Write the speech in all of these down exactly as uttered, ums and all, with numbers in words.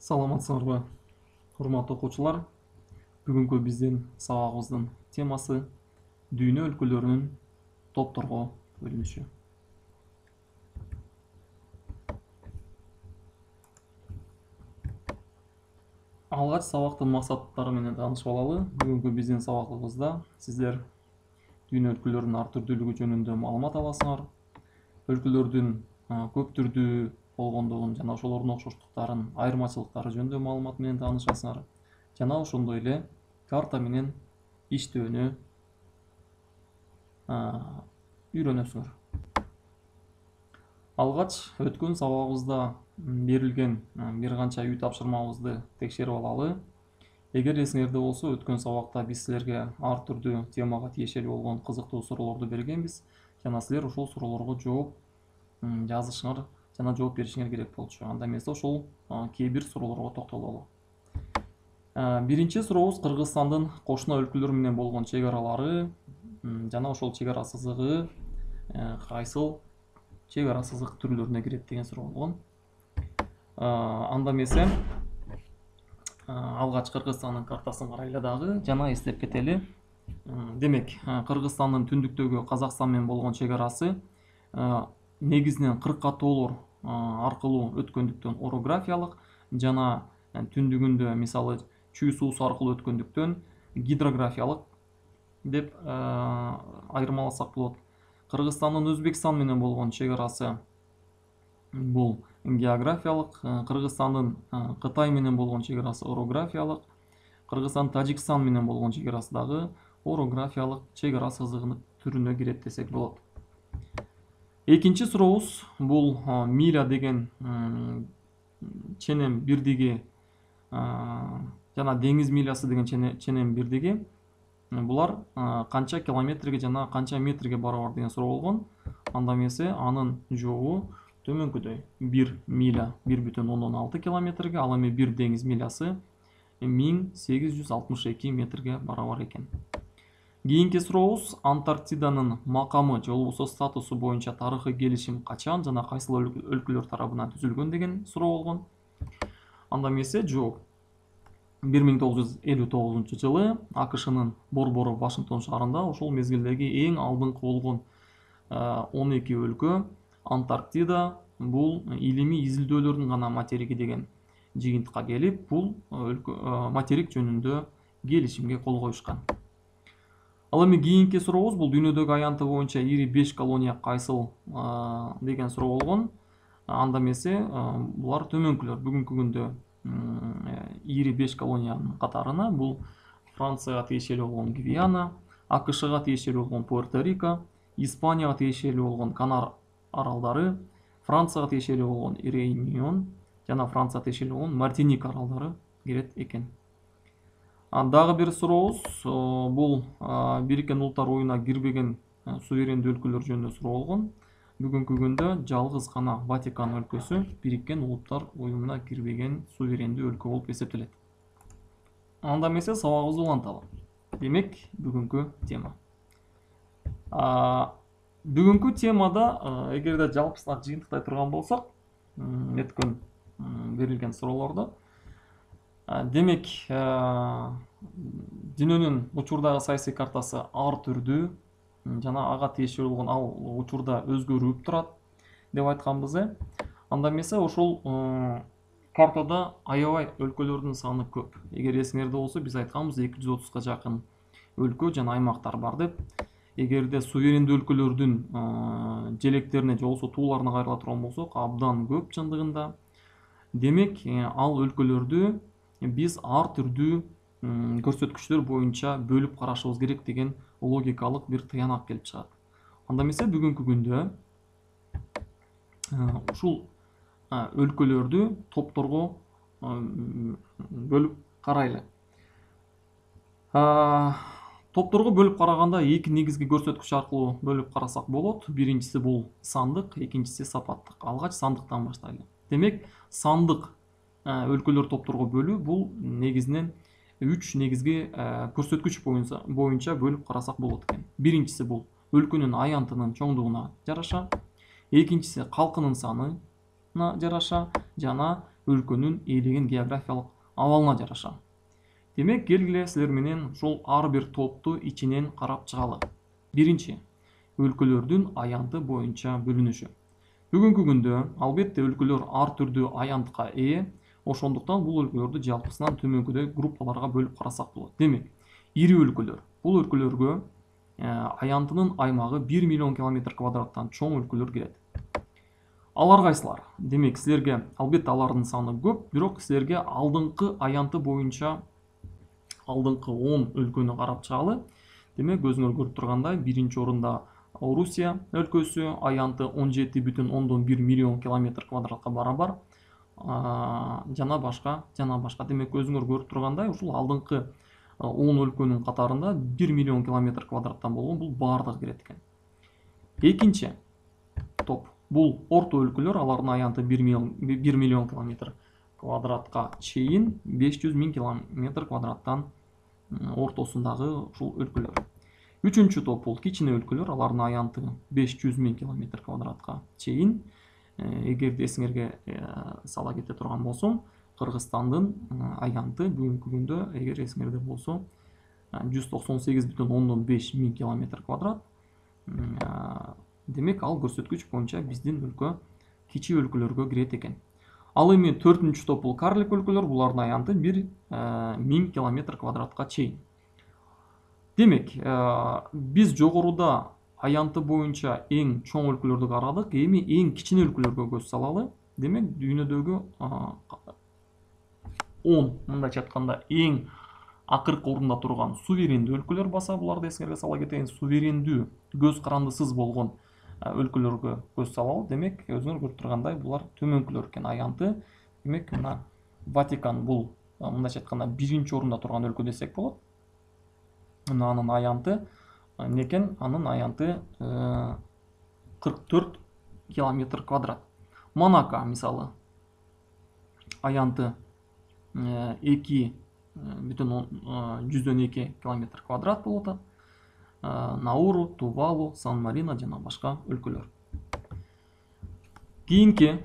Саламатсыңарбы, урматтуу окуучулар. Бүгүнкү биздин сабагыбыздын темасы дүйнө өлкөлөрүнүн топторго бөлүнүшү. Алгач сабактын максаттары менен таанышып алалы. Бүгүнкү биздин сабагыбызда сиздер дүйнө өлкөлөрүнүн ар түрдүүлүгү жөнүндө маалымат аласыңар. Өлкөлөрдүн көп түрдүү болгондугун жана ошолордун окшоштуктарын, айырмачылыктары жөнүндө маалымат менен таанышасыңар. Жана ошондой эле карта менен иштөөнү үйрөнөсүңөр. Алгач өткөн сабагыбызда берилген бир канча үй тапшырмабызды текшерип алалы. Эгер эсиңерде болсо, өткөн сабакта биз силерге ар түрдүү темага тиешелүү болгон кызыктуу суроолорду бергенбиз. Жана силер ошол суроолорго жооп жазышыңар жана жооп беришиңер керек болчу. Анда эмесе ошол кээ бир суроолорго токтололу. Биринчи сурообуз Кыргызстандын кошуна өлкөлөр менен болгон чек аралары жана ошол чек ара сызыгы кайсыл чек ара сызык түрлөрүнө кирет деген суроо болгон. Анда эмесе алгач Кыргызстандын картасын карайлы дагы жана эстеп кетели. Демек, Кыргызстандын түндүктөгү Казакстан менен болгон чек арасы негизинен кыркатоолор аркылуу өткөндүктөн орографиялык жана түндүгүндө мисалы чүй суусу аркылуу өткөндүктөн гидрографиялык деп айырмаласак болот. Кыргызстандын Өзбекстан менен болгон чек арасы бул географиялык, Кыргызстандын Кытай менен болгон чек арасы орографиялык, Кыргызстан Тажикстан менен болгон чек арасы дагы орографиялык чек ара сызыгынын түрүнө кирет десек болот. Экинчи сурообуз бул миля деген ченем бирдиги жана деңиз милясы деген ченем бирдиги. Булар канча километрге жана канча метрге барабар деген суроо болгон. Анда эмесе анын жообу төмөнкүдөй. бир миля бир бүтүн ондон алты километрге, ал эми бир деңиз милясы миң сегиз жүз алтымыш эки метрге барабар экен. Кийинки сурообуз Антарктиданын макамы же болбосо статусу боюнча тарыхый келишим качан жана кайсыл өлкөлөр тарабынан түзүлгөн деген суроо болгон. Анда эмесе жооп бир миң тогуз жүз элүү тогузунчу жылы АКШнын борбору Вашингтон шаарында ошол мезгилдеги эң алдыңкы болгон он эки өлкө Антарктида бул илимий изилдөөлөрдүн гана материги деген жыйынтыкка келип, бул материк жөнүндө келишимге кол коюшкан. Ал эми кийинки сурообуз бул дүйнөдөгү аянты боюнча ири беш колония кайсыл деген суроо болгон. Анда эмесе булар төмөнкүлөр. Бүгүнкү күндө ири беш колониянын катарына бул Францияга тиешелүү болгон Гвиана, АКШга тиешелүү болгон Пуэрто-Рико, Испанияга тиешелүү болгон Канар аралдары, Францияга тиешелүү болгон Реюнион жана Францияга тиешелүү болгон Мартиника аралдары кирет экен. Дагы бир сурообуз бул Бириккен Улуттар Уюмуна кирбеген суверендүү өлкөлөр жөнүндө суроо болгон. Бүгүнкү күндө жалгыз гана Ватикан өлкөсү Бириккен Улуттар Уюмуна кирбеген суверендүү өлкө болуп эсептелет. Анда эмесе сабагыбызды уланталы. Демек, бүгүнкү тема. Бүгүнкү темада эгерде жалпысына жыйынтыктай турган болсок, өткөн берилген суроолорду, демек, дүйнөнүн учурдагы саясий картасы ар түрдүү жана ага тиешелүү болгон ал учурда өзгөрүп турат деп айтканбыз. Анда эмесе ошол картада аябай өлкөлөрдүн саны көп. Эгер эсиңерде болсо, биз айтканбыз эки жүз отузга жакын өлкө жана аймактар бар деп. Эгерде суверендүү өлкөлөрдүн желектерине же болбосо тууларына кайрыла турган болсок, абдан көп чындыгында. Демек, ал өлкөлөрдү биз ар түрдүү көрсөткүчтөр боюнча бөлүп карашыбыз керек деген логикалык бир тыянак келип чыгат. Анда эмесе бүгүнкү күндө ушул өлкөлөрдү топторго бөлүп карайлы. Топторго бөлүп караганда эки негизги көрсөткүч аркылуу бөлүп карасак болот. Биринчиси бул сандык, экинчиси сапаттык. Алгач сандыктан баштайлы. Демек, сандык өлкөлөр топторго бөлүү бул негизинен үч негизги көрсөткүч боюнча бөлүп карасак болот экен. Биринчиси бул өлкөнүн аянтынын чоңдугуна жараша, экинчиси калкынын саны, кабатына жараша жана өлкөнүн ээлеген географиялык абалына жараша. Демек, келгиле силер менен ушул ар бир топту ичинен карап чыгалы. Биринчи, өлкөлөрдүн аянты боюнча бөлүнүшү. Бүгүнкү күндө албетте өлкөлөр ар түрдүү аянтка ээ, ошондуктан бул өлкөлөрдү жалпысынан төмөнкүдөй группаларга бөлүп карасак болот. Демек, ири өлкөлөр. Бул өлкөлөргө аянтынын аймагы бир миллион километр квадраттан чоң өлкөлөр кирет. Алар кайсылар? Демек, силерге албетте алардын саны көп, бирок силерге алдыңкы аянты боюнча алдыңкы он өлкөнү карап чыгалы. Демек, өзүңөр көрүп тургандай, биринчи орунда Орусия өлкөсү, аянты он жети бүтүн ондон бир миллион километр квадратка барабар. Жана башка, жана башка. Демек, өзүңөр көрүп тургандай, ушул алдыңкы он өлкөнүн катарында бир миллион километр квадраттан болгон бул баардыгы кирет экен. Экинчи топ бул орто өлкөлөр, алардын аянты бир миллион километр квадратка чейин беш жүз миң километр квадраттан ортосундагы ушул өлкөлөр. Үчүнчү топ бул кичине өлкөлөр, алардын аянты беш жүз миң километр квадратка чейин. Эгерде эсиңерге сала кете турган болсом, Кыргызстандын аянты бүгүнкү күндө, эгер эсиңерде болсо, жүз токсон сегиз бүтүн ондон беш миң километр квадрат. Демек, ал көрсөткүч боюнча биздин өлкө кичи өлкөлөргө кирет экен. Ал эми төртүнчү топ бул карлик өлкөлөр, булардын аянты бир миң километр квадратка чейин. Демек, биз жогоруда аянты боюнча эң чоң өлкөлөрдү карадык, эми эң кичине өлкөлөргө көз салалы. Демек, дүйнөдөгү он, мындайча айтканда, эң акыркы орунда турган суверендүү өлкөлөр баса, буларды эсиңерге сала кетейин, суверендүү, көз карандысыз болгон өлкөлөргө көз салалы. Демек, өзүңөр көрүп тургандай, булар төмөнкүлөр экен аянты. Демек, мына Ватикан бул, мындайча айтканда, биринчи орунда турган өлкө десек болот. Мына анын аянты некен? Анын аянты кырк төрт километр квадрат. Монако, мисалы, аянты эки бүтүн жүздөн эки километр квадрат болот. Науру, Тувалу, Сан-Марино жана башка өлкөлөр. Кийинки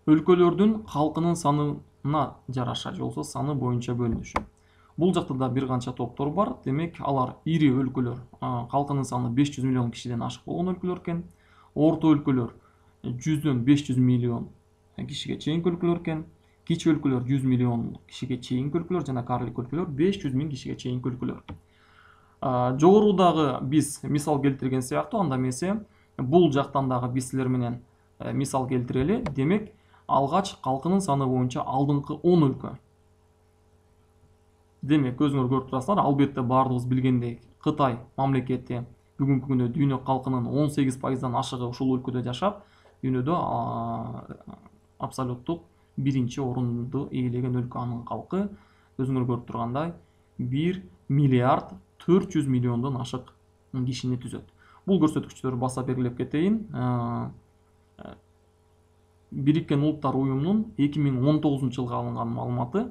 өлкөлөрдүн калкынын санына жараша, же болбосо саны боюнча бөлүнүшү. Бул жакта да бир канча топтор бар. Демек, алар ири өлкөлөр, калкынын саны беш жүз миллион кишиден ашык болгон өлкөлөр экен. Орто өлкөлөр жүздөн беш жүз миллион кишиге чейинки өлкөлөр экен. Кичи өлкөлөр жүз миллион кишиге чейинки өлкөлөр жана карлик өлкөлөр беш жүз миң кишиге чейинки өлкөлөр. Жогорудагы биз мисал келтирген сыяктуу, анда эмесе бул жактан дагы биз силер менен мисал келтирели. Демек, алгач калкынын саны боюнча алдыңкы он өлкө. Демек, өзүңөр көрүп турасыздар, албетте баардыгыбыз билгендей, Кытай мамлекети бүгүнкү күндө дүйнө калкынын он сегиз пайыздан ашыгы ушул өлкөдө жашап, дүйнөдө абсолюттук биринчи орунду ээлеген өлкө. Анын калкы өзүңөр көрүп тургандай бир миллиард төрт жүз миллиондон ашык кишини түзөт. Бул көрсөткүчтөрдү баса белгилеп кетейин. Бириккен Улуттар уюмунун эки миң он тогузунчу жылга алынган маалыматы,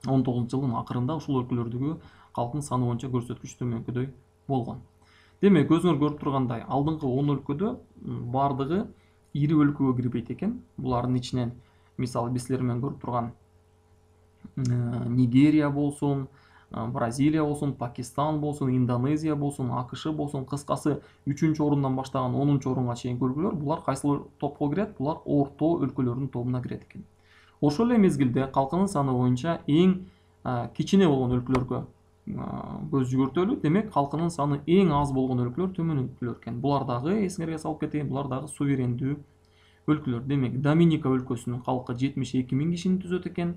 он тогузунчу жылдын акырында ушул өлкөлөрдөгү калктын саны боюнча көрсөткүч төмөнкүдөй болгон. Демек, өзүңөр көрүп тургандай, алдыңкы он өлкөдө баардыгы ири өлкөгө кирбейт экен. Булардын ичинен мисалы биз силер менен көрүп турган Нигерия болсун, Бразилия болсун, Пакистан болсун, Индонезия болсун, АКШ болсун, кыскасы үчүнчү орундан баштаган онунчу орунга чейинки өлкөлөр, булар кайсыл топко кирет? Булар орто өлкөлөрдүн тобуна кирет экен. Ошол эле мезгилде калкынын саны боюнча эң кичине болгон өлкөлөргө көз жүгүртөлү. Демек, калкынын саны эң аз болгон өлкөлөр төмөн өлкөлөр экен. Булар дагы эсиңерге салып кетейин, булар дагы суверендүү өлкөлөр. Демек, Доминика өлкөсүнүн калкы жетимиш эки миң кишини түзөт экен.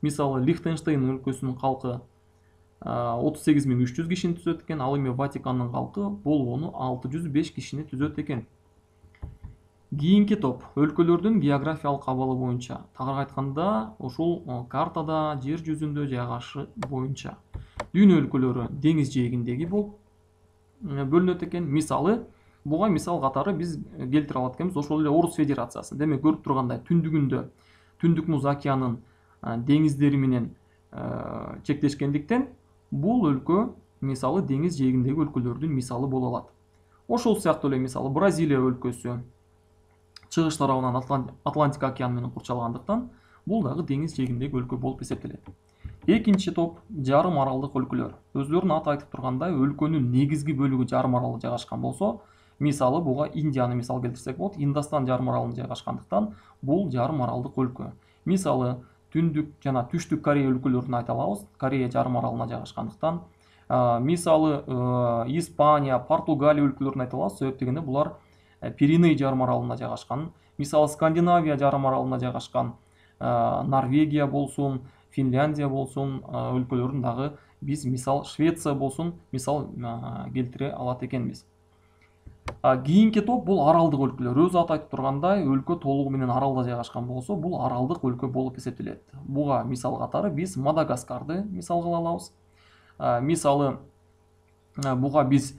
Мисалы, Лихтенштейн өлкөсүнүн калкы отуз сегиз миң үч жүз кишини түзөт экен. Ал эми Ватикандын калкы болгону алты жүз беш кишини түзөт экен. Кийинки топ өлкөлөрдүн географиялык абалы боюнча. Тагыраак айтканда, ушул картада жер жүзүндө жайгашы боюнча дүйнө өлкөлөрү деңиз жээгиндеги болуп бөлүнөт экен. Мисалы, буга мисал катары биз келтире алат экенбиз ошол эле Орус Федерациясы. Демек, көрүп тургандай, түндүгүндө Түндүк Муз океанын деңиздери менен чектешкендиктен бул өлкө мисалы деңиз жээгиндеги өлкөлөрдүн мисалы боло алат. Ошол сыяктуу эле мисалы Бразилия өлкөсү, чыгыш тарабынан Атлантика океаны менен курчалгандыктан бул дагы деңиз жээгиндеги өлкө болуп эсептелет. Экинчи топ жарым аралдык өлкөлөр. Өзүлөрүнүн аты айтып тургандай, өлкөнүн негизги бөлүгү жарым аралда жайгашкан болсо, мисалы буга Индияны мисал келтирсек болот. Индостан жарым аралында жайгашкандыктан бул жарым аралдык өлкө. Мисалы түндүк жана түштүк Корея өлкөлөрүн айта алабыз. Корея жарым аралына жайгашкандыктан. Мисалы Испания, Португалия өлкөлөрүн айта алабыз. Себеп дегенде булар Пиреней жарым аралында жайгашкан. Мисалы Скандинавия жарым аралында жайгашкан. Норвегия болсун, Финляндия болсун өлкөлөрүн дагы биз мисал Швеция болсун мисал келтире алат экенбиз. Кийинки топ бул аралдык өлкөлөр. Өз аты айтып тургандай, өлкө толугу менен аралда жайгашкан болсо, бул аралдык өлкө болуп эсептелет. Буга мисал катары биз Мадагаскарды мисал кыла алабыз. Мисалы буга биз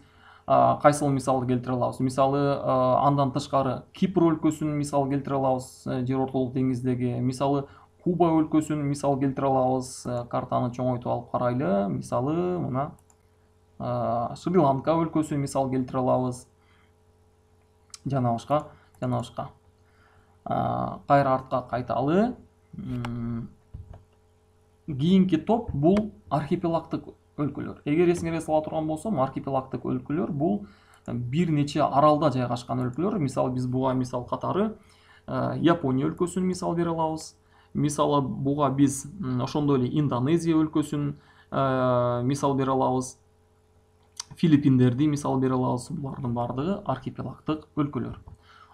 кайсыл мисалды келтире алабыз? Мисалы андан тышкары Кипр өлкөсүн мисал келтире алабыз, жер ортолук деңиздеги. Мисалы Куба өлкөсүн мисал келтире алабыз. Картаны чоңойтуп алып карайлы. Мисалы мына Шри-Ланка өлкөсүн мисал келтире алабыз. Жана башка, жана башка. Кайра артка кайталы. Кийинки топ бул архипелагдык өлкөлөр. Эгер эсиңерге сала турган болсом, архипелагдык өлкөлөр бул бир нече аралда жайгашкан өлкөлөр. Мисалы биз буга мисал катары Япония өлкөсүн мисал бере алабыз. Мисалы буга биз ошондой эле Индонезия өлкөсүн мисал бере алабыз. Филиппиндерди мисал бере алабыз. Булардын бардыгы архипелагдык өлкөлөр.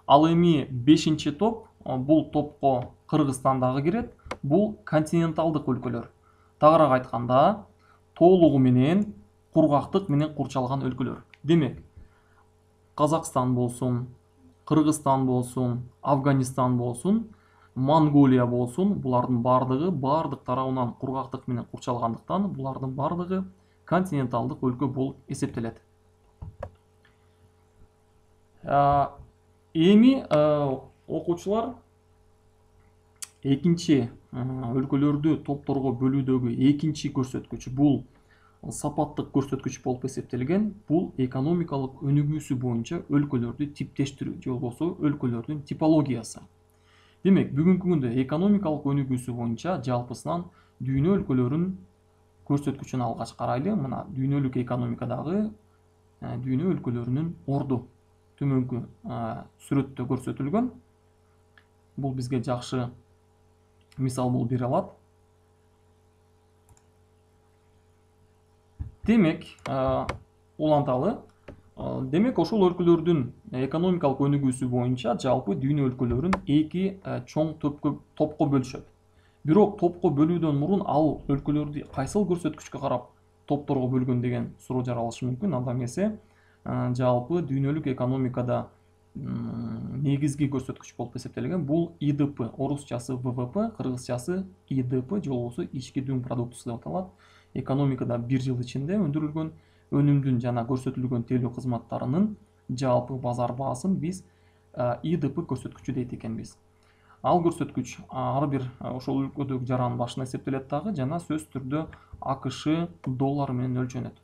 Ал эми бешинчи топ, бул топко Кыргызстан дагы кирет. Бул континенталдык өлкөлөр. Тагыраак айтканда, толугу менен кургактык менен курчалган өлкөлөр. Демек, Казакстан болсун, Кыргызстан болсун, Афганистан болсун, Монголия болсун, булардын бардыгы бардык тарабынан кургактык менен курчалгандыктан булардын бардыгы континенталдык өлкө болуп эсептелет. Эми окуучулар экинчи өлкөлөрдү топторго бөлүүдөгү экинчи көрсөткүч бул сапаттык көрсөткүч болуп эсептелген. Бул экономикалык өнүгүүсү боюнча өлкөлөрдү типтештирүү же болбосо өлкөлөрдүн типологиясы. Демек, бүгүнкү күндө экономикалык өнүгүүсү боюнча жалпысынан дүйнө өлкөлөрүн көрсөткүчүн алгач карайлы. Мына дүйнөлүк экономикадагы дүйнө өлкөлөрүнүн орду төмөнкү сүрөттө көрсөтүлгөн. Бул бизге жакшы мисал болуп бере алат. Демек, уланталы. Демек, ошол өлкөлөрдүн экономикалык өнүгүүсү боюнча жалпы дүйнө өлкөлөрүн эки чоң топко бөлүшөт. Бирок топко бөлүүдөн мурун ал өлкөлөрдү кайсыл көрсөткүчкө карап топторго бөлгөн деген суроо жаралышы мүмкүн. Анда эмесе жалпы дүйнөлүк экономикада негизги көрсөткүч болуп эсептелген бул И Д П, орусчасы В В П, кыргызчасы И Д П же болбосо ички дүң продуктусу деп аталат. Экономикада бир жыл ичинде өндүрүлгөн өнүмдүн жана көрсөтүлгөн тейлөө кызматтарынын жалпы базар баасын биз И Д П көрсөткүчү дейт экенбиз. Ал көрсөткүч ар бир ошол өлкөдөгү жаранын башына эсептелет дагы жана сөзсүз түрдө А К Ш доллары менен өлчөнөт.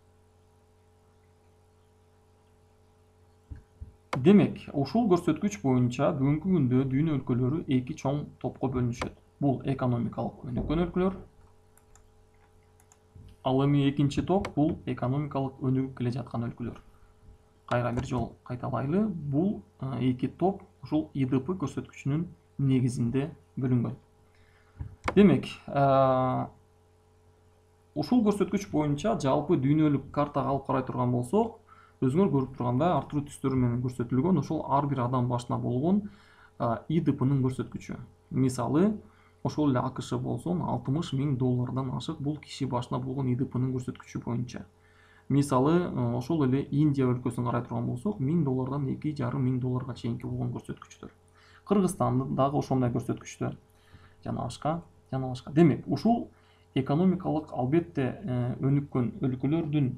Демек, ушул көрсөткүч боюнча бүгүнкү күндө дүйнө өлкөлөрү эки чоң топко бөлүнүшөт. Бул экономикалык өнүккөн өлкөлөр. Ал эми экинчи топ бул экономикалык өнүгүп келе жаткан өлкөлөр. Кайра бир жол кайталайлы. Бул эки топ ушул И Д П көрсөткүчүнүн негизинде бөлүнгөн. Демек, ушул көрсөткүч боюнча жалпы дүйнөлүк картага алып карай турган болсок, өзүңөр көрүп тургандай ар түрдүү түстөр менен көрсөтүлгөн ошол ар бир адам башына болгон И Д П'нын көрсөткүчү. Мисалы, ошол эле А К Ш болсун алтымыш миң доллардан ашык бул киши башына болгон И Д П'нын көрсөткүчү боюнча. Мисалы, ошол эле Индия өлкөсүн карай турган болсок, миң доллардан эки жарым миң долларга чейинки болгон көрсөткүчтөр. Кыргызстан дагы ошондой көрсөткүчтөр. Жана башка, жана башка. Демек, ушул экономикалык албетте өнүккөн өлкөлөрдүн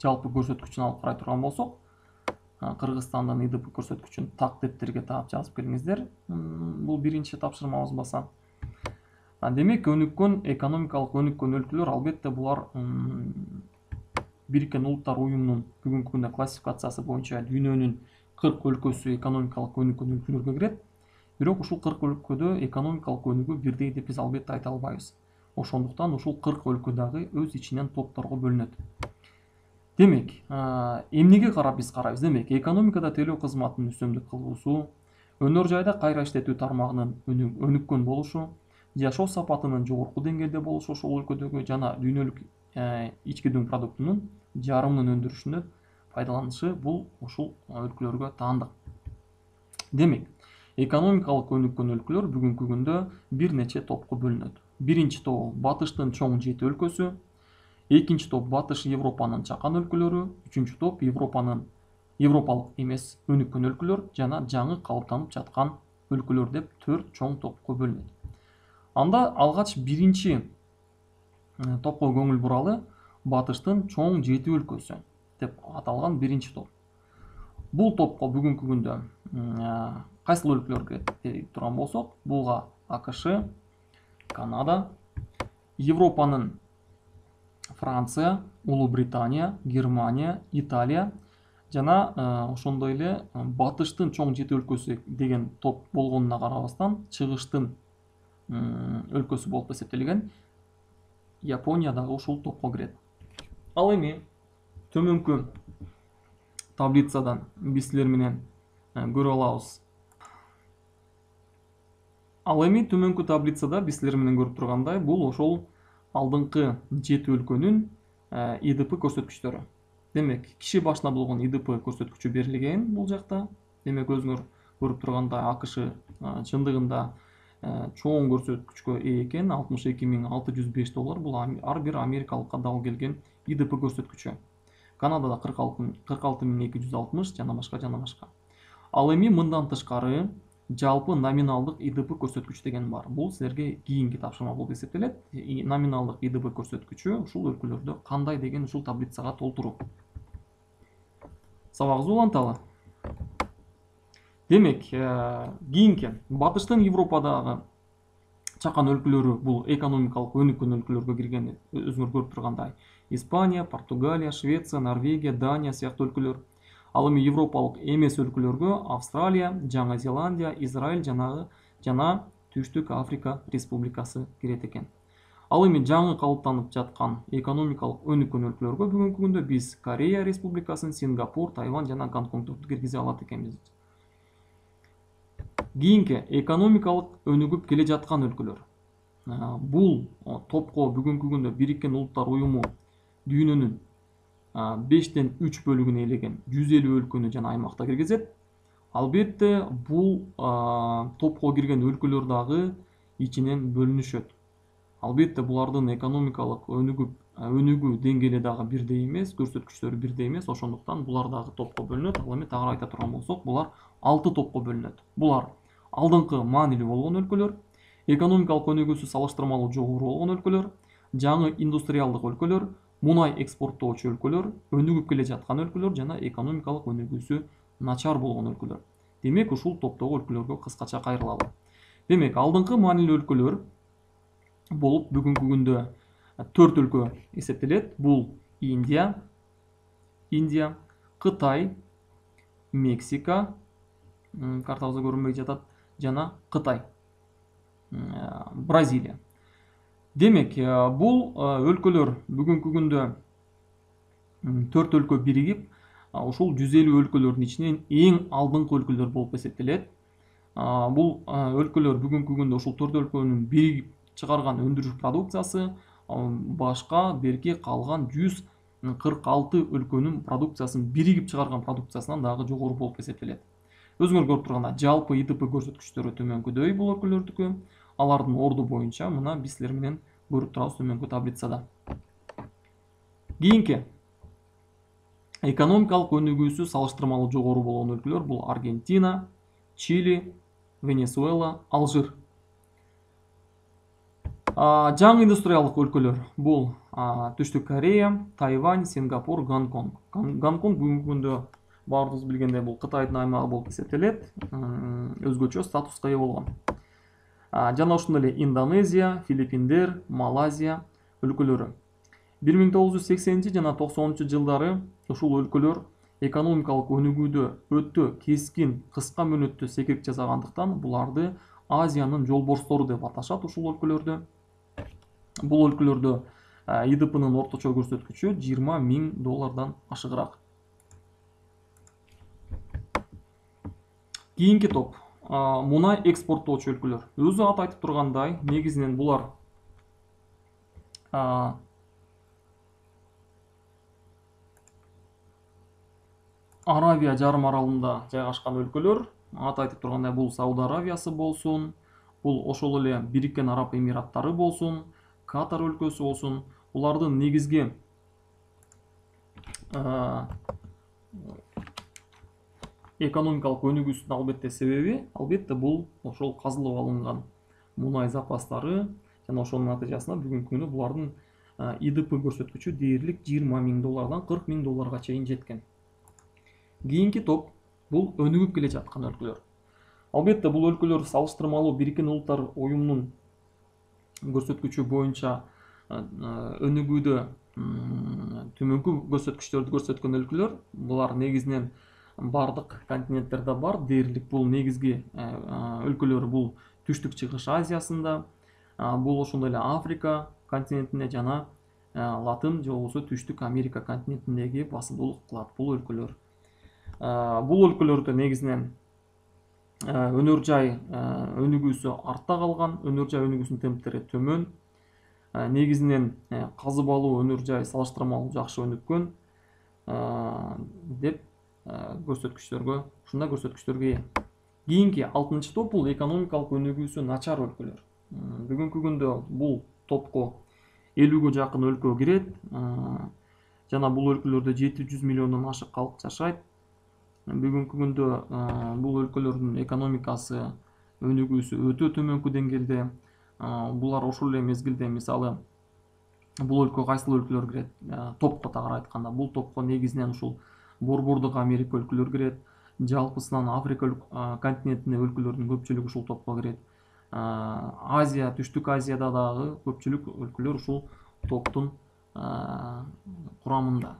жалпы көрсөткүчүн алып карай турган болсок, Кыргызстандын И Д П көрсөткүчүн так дептерге таап жазып келиңиздер. Бул биринчи тапшырмабыз баса. Демек, өнүккөн экономикалык өнүккөн өлкөлөр албетте булар Бириккен Улуттар уюмунун бүгүнкү күндө классификациясы боюнча дүйнөнүн кырк өлкөсү экономикалык өнүккөн өлкөлөргө кирет. Бирок ушул кырк өлкөдө экономикалык өнүгүү бирдей деп биз албетте айта албайбыз. Ошондуктан ушул кырк өлкө дагы өз ичинен топторго бөлүнөт. Демек, эмнеге карап биз карайбыз? Демек, экономикада төлөө кызматынын үстөмдүк кылуусу, өнөр жайда кайра иштетүү тармагынын өнүккөн болушу, жашоо сапатынын жогорку деңгээлде болушу ошол өлкөдөгү жана дүйнөлүк ички дүң продуктунун жарымынын өндүрүшүнө пайдаланышы бул ушул өлкөлөргө таандык. Демек, экономикалык өнүккөн өлкөлөр бүгүнкү күндө бир нече топко бөлүнөт. Биринчи топ батыштын чоң жети өлкөсү, экинчи топ батыш Европанын чакан өлкөлөрү, үчүнчү топ Европанын европалык эмес өнүккөн өлкөлөр жана жаңы калыптанып жаткан өлкөлөр деп төрт чоң топко бөлүнөт. Анда алгач биринчи топко көңүл буралы батыштын чоң жети өлкөсү деп аталган биринчи топ. Бул топко бүгүнкү күндө кайсыл өлкөлөр кирет деп турган болсок, булга АКШ, Канада, Европанын Франция, Улуу Британия, Германия, Италия жана ошондой эле батыштын чоң жети өлкөсү деген топ болгонуна карабастан чыгыштын өлкөсү болуп эсептелген Япония дагы ушул топко кирет. Ал эми төмөнкү таблицадан биз силер менен көрүп алабыз. Ал эми төмөнкү таблицада биз силер менен көрүп тургандай, бул ошол алдыңкы жети өлкөнүн И Д П көрсөткүчтөрү. Демек, киши башына болгон И Д П көрсөткүчү берилген бул жакта. Демек, өзүңөр көрүп тургандай АКШ чындыгында чоң көрсөткүчкө ээ экен, алтымыш эки миң алты жүз беш доллар. Бул ар бир америкалыкка дал келген И Д П көрсөткүчү. Канадада кырк алты миң эки жүз алтымыш жана башка жана башка. Ал эми мындан тышкары жалпы номиналдык И Д П көрсөткүч деген бар. Бул силерге кийинки тапшырма болуп эсептелет. Номиналдык И Д П көрсөткүчү ушул өлкөлөрдө кандай деген ушул таблицага толтуруу. Сабагыбызды уланталы. Демек, кийинки батыштын Европадагы чакан өлкөлөрү бул экономикалык өнүккөн өлкөлөргө кирген. Өзүңөр көрүп тургандай, Испания, Португалия, Швеция, Норвегия, Дания сыяктуу өлкөлөр. Ал эми европалык эмес өлкөлөргө Австралия, Жаңы Зеландия, Израиль жана жана Түштүк Африка Республикасы кирет экен. Ал эми жаңы калыптанып жаткан экономикалык өнүккөн өлкөлөргө бүгүнкү күндө биз Корея Республикасын, Сингапур, Тайвань жана Гонконгду киргизе алат экенбиз. Кийинки экономикалык өнүгүп келе жаткан өлкөлөр. Бул топко бүгүнкү күндө Бириккен Улуттар Уюму дүйнөнүн бештен үч бөлүгүн ээлеген жүз элүү өлкөнү жана аймакта киргизет. Албетте, бул топко кирген өлкөлөр дагы ичинен бөлүнүшөт. Албетте, булардын экономикалык өнүгүп өнүгүү деңгээли дагы бирдей эмес, көрсөткүчтөрү бирдей эмес, ошондуктан булар дагы топко бөлүнөт. Ал эми тагыраак айта турган болсок, булар алты топко бөлүнөт. Булар алдыңкы маанилүү болгон өлкөлөр, экономикалык өнүгүүсү салыштырмалуу жогору болгон өлкөлөр, жаңы индустриалдык өлкөлөр, мунай экспорттоочу өлкөлөр, өнүгүп келе жаткан өлкөлөр жана экономикалык өнүгүүсү начар болгон өлкөлөр. Демек, ушул топтогу өлкөлөргө кыскача кайрылалы. Демек, алдыңкы маанилүү өлкөлөр болуп бүгүнкү күндө төрт өлкө эсептелет. Бул Индия, Индия, Кытай, Мексика, картабызда көрүнбөй жатат, жана Кытай, Бразилия. Демек, бул өлкөлөр бүгүнкү күндө төрт өлкө биригип, ушул жүз элүү өлкөлөрдүн ичинен эң алдыңкы өлкөлөр болуп эсептелет. Бул өлкөлөр бүгүнкү күндө ушул төрт өлкөнүн биригип чыгарган өндүрүш продукциясы башка берки калган жүз кырк алты өлкөнүн продукциясын биригип чыгарган продукциясынан дагы жогору болуп эсептелет. Өзүңөр көрүп тургандай, жалпы И Д П көрсөткүчтөрү төмөнкүдөй бул өлкөлөрдүкү. Алардын орду боюнча мына биз силер менен көрүп турабыз төмөнкү таблицада. Кийинки экономикалык өнүгүүсү салыштырмалуу жогору болгон өлкөлөр бул Аргентина, Чили, Венесуэла, Алжир. Жаңы индустриалдык өлкөлөр бул Түштүк Корея, Тайвань, Сингапур, Гонконг. Гонконг бүгүнкү күндө баарыбыз билгендей бул Кытайдын аймагы болуп эсептелет, өзгөчө статуска ээ болгон. Жана ошондой эле Индонезия, Филиппиндер, Малайзия өлкөлөрү. бир миң тогуз жүз сексенинчи жана токсонунчу жылдары ушул өлкөлөр экономикалык өнүгүүдө өтө кескин кыска мөөнөттө секирип жасагандыктан буларды Азиянын жолборстору деп аташат. Ушул өлкөлөрдө бул өлкөлөрдө И Д П'нын орточо көрсөткүчү жыйырма миң доллардан ашыгыраак. Кийинки топ мунай экспорттоочу өлкөлөр. Өзү аты айтып тургандай, негизинен булар Аравия жарым аралында жайгашкан өлкөлөр. Аты айтып тургандай, бул Сауд Аравиясы болсун, бул ошол эле Бириккен Араб Эмираттары болсун, Катар өлкөсү болсун. Булардын негизги экономикалык өнүгүүсүнүн албетте себеби, албетте бул ошол казылып алынган мунай запастары жана ошонун натыйжасында бүгүнкү күндө булардын И Д П көрсөткүчү дээрлик жыйырма миң доллардан кырк миң долларга чейин жеткен. Кийинки топ бул өнүгүп келе жаткан өлкөлөр. Албетте бул өлкөлөр салыштырмалуу Бириккен Улуттар Уюмунун көрсөткүчү боюнча өнүгүүдө төмөнкү көрсөткүчтөрдү көрсөткөн өлкөлөр. Булар негизинен бардык континенттерде бар. Дээрлик бул негизги өлкөлөр бул Түштүк Чыгыш Азиясында, бул ошондой эле Африка континентинде жана Латын же болбосо Түштүк Америка континентиндеги басымдуулук кылат бул өлкөлөр. Бул өлкөлөрдө негизинен өнөр жай өнүгүүсү артта калган, өнөр жай өнүгүүсүнүн темптери төмөн. Негизинен казып алуу өнөр жай салыштырмалуу жакшы өнүккөн деп көрсөткүчтөргө, ушундай көрсөткүчтөргө ээ. Кийинки алтынчы топ бул экономикалык өнүгүүсү начар өлкөлөр. Бүгүнкү күндө бул топко элүүгө жакын өлкө кирет жана бул өлкөлөрдө жети жүз миллиондон ашык калк жашайт. Бүгүнкү күндө бул өлкөлөрдүн экономикасы өнүгүүсү өтө төмөнкү деңгээлде. Булар ошол эле мезгилде, мисалы, бул өлкө кайсыл өлкөлөр кирет? Топко тагыраак айтканда, бул топко негизинен ушул Борбордук Америка өлкөлөр кирет. Жалпысынан Африка континентинде өлкөлөрдүн көпчүлүгү ушул топко кирет. Азия, Түштүк Азияда дагы көпчүлүк өлкөлөр ушул топтун курамында.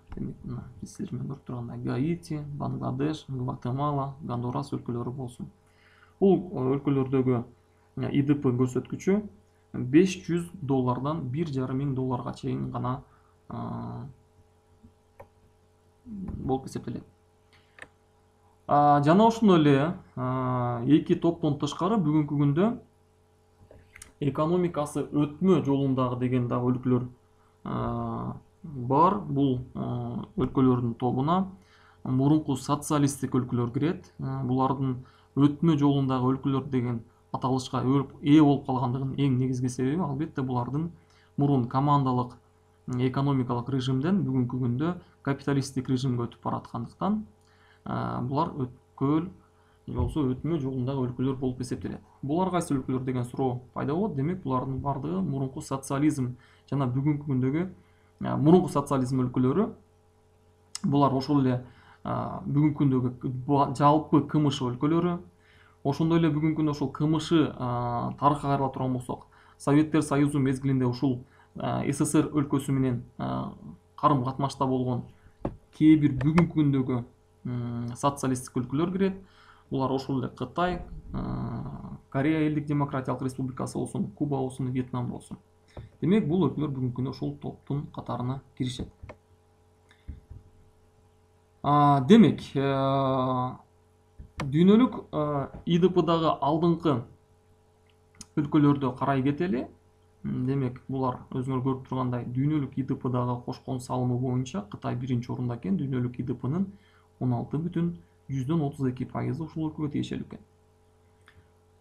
Силер менен көрүп тургандай Гаити, Бангладеш, Гватемала, Гондурас өлкөлөрү болсун. Бул өлкөлөрдөгү И Д П көрсөткүчү беш жүз доллардан бир жарым миң долларга чейин гана болуп эсептелет. Жана ошондой эле эки топтон тышкары бүгүнкү күндө экономикасы өтмө жолундагы деген дагы өлкөлөр бар. Бул өлкөлөрдүн тобуна мурунку социалисттик өлкөлөр кирет. Булардын өтмө жолундагы өлкөлөр деген аталышка ээ болуп калгандыгынын эң негизги себеби албетте булардын мурун командалык экономикалык режимден бүгүнкү күндө капиталисттик режимге өтүп бараткандыктан булар өткөл же болбосо өтмө жолундагы өлкөлөр болуп эсептелет. Булар кайсы өлкөлөр деген суроо пайда болот. Демек булардын бардыгы мурунку социализм жана бүгүнкү күндөгү мурунку социализм өлкөлөрү. Булар ошол эле бүгүнкү күндөгү жалпы К М Ш өлкөлөрү. Ошондой эле бүгүнкү күндө ошол К М Ш тарыхка кайрыла турган болсок, Советтер Союзу мезгилинде ушул С С Р өлкөсү менен карым катнашта болгон кээ бир бүгүнкү күндөгү социалисттик өлкөлөр кирет. Булар ошол эле Кытай, Корея элдик демократиялык республикасы болсун, Куба болсун, Вьетнам болсун. Демек бул өлкөлөр бүгүнкү күндө ошол топтун катарына киришет. Демек дүйнөлүк И Д П'дагы алдыңкы өлкөлөрдө карай кетели. Демек булар өзүңөр көрүп тургандай дүйнөлүк И Д П'дагы кошкон салымы боюнча Кытай биринчи орунда экен. Дүйнөлүк И Д П'нын он алты бүтүн жүздөн отуз эки пайызы ушул өлкөгө тиешелүү экен.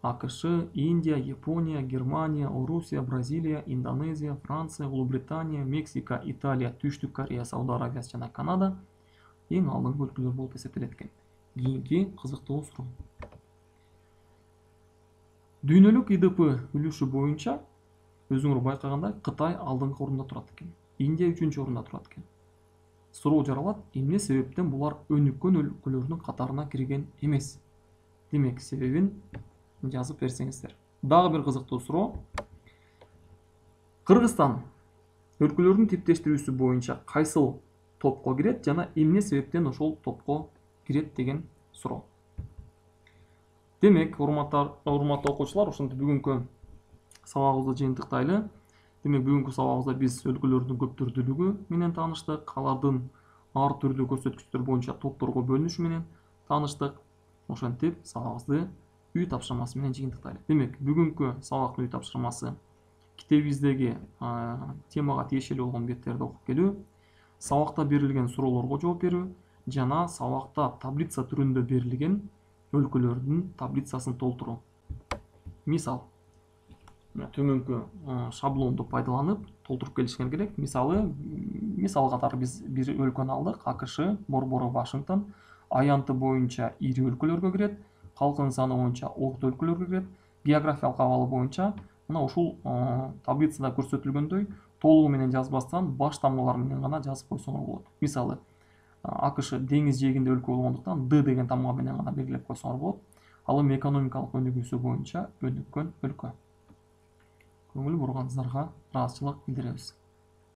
А К Ш, Индия, Япония, Германия, Орусия, Бразилия, Индонезия, Франция, Улуу Британия, Мексика, Италия, Түштүк Корея, Сауд Аравиясы жана Канада эң алдыңкы өлкөлөр болуп эсептелет экен. Кийинки кызыктуу суроо. Дүйнөлүк И Д П үлүшү боюнча өзүңөр байкагандай Кытай алдыңкы орунда турат экен. Индия үчүнчү орунда турат экен. Суроо жаралат, эмне себептен булар өнүккөн өлкөлөрдүн катарына кирген эмес? Демек, себебин жазып берсеңиздер. Дагы бир кызыктуу суроо. Кыргызстан өлкөлөрдүн типтештирүүсү боюнча кайсыл топко кирет жана эмне себептен ошол топко кирет деген суроо. Демек, урматтуу окуучулар, ошентип бүгүнкү сабагыбызды жыйынтыктайлы. Демек, бүгүнкү сабагыбызда биз өлкөлөрдүн көп түрдүүлүгү менен тааныштык, алардын ар түрдүү көрсөткүчтөр боюнча топторго бөлүнүшү менен тааныштык. Ошентип сабагыбызды үй тапшырмасы менен жыйынтыктайлы. Демек, бүгүнкү сабактын үй тапшырмасы китебибиздеги темага тиешелүү болгон беттерди окуп келүү, сабакта берилген суроолорго жооп берүү жана сабакта таблица түрүндө берилген өлкөлөрдүн таблицасын толтуруу. Мисал, төмөнкү шаблонду пайдаланып толтуруп келишиңер керек. Мисалы, мисал катары биз бир өлкөнү алдык. АКШ, борбору Вашингтон, аянты боюнча ири өлкөлөргө кирет, калкынын саны боюнча орто өлкөлөргө кирет, географиялык абалы боюнча мына ушул таблицада көрсөтүлгөндөй толугу менен жазбастан баш тамгалар менен гана жазып койсоңор болот. Мисалы, АКШ деңиз жээгинде өлкө болгондуктан Д деген тамга менен гана белгилеп койсоңор болот. Ал эми экономикалык өнүгүүсү боюнча өнүккөн өлкө. Көңүл бурганыңыздарга ыраазычылык билдиребиз.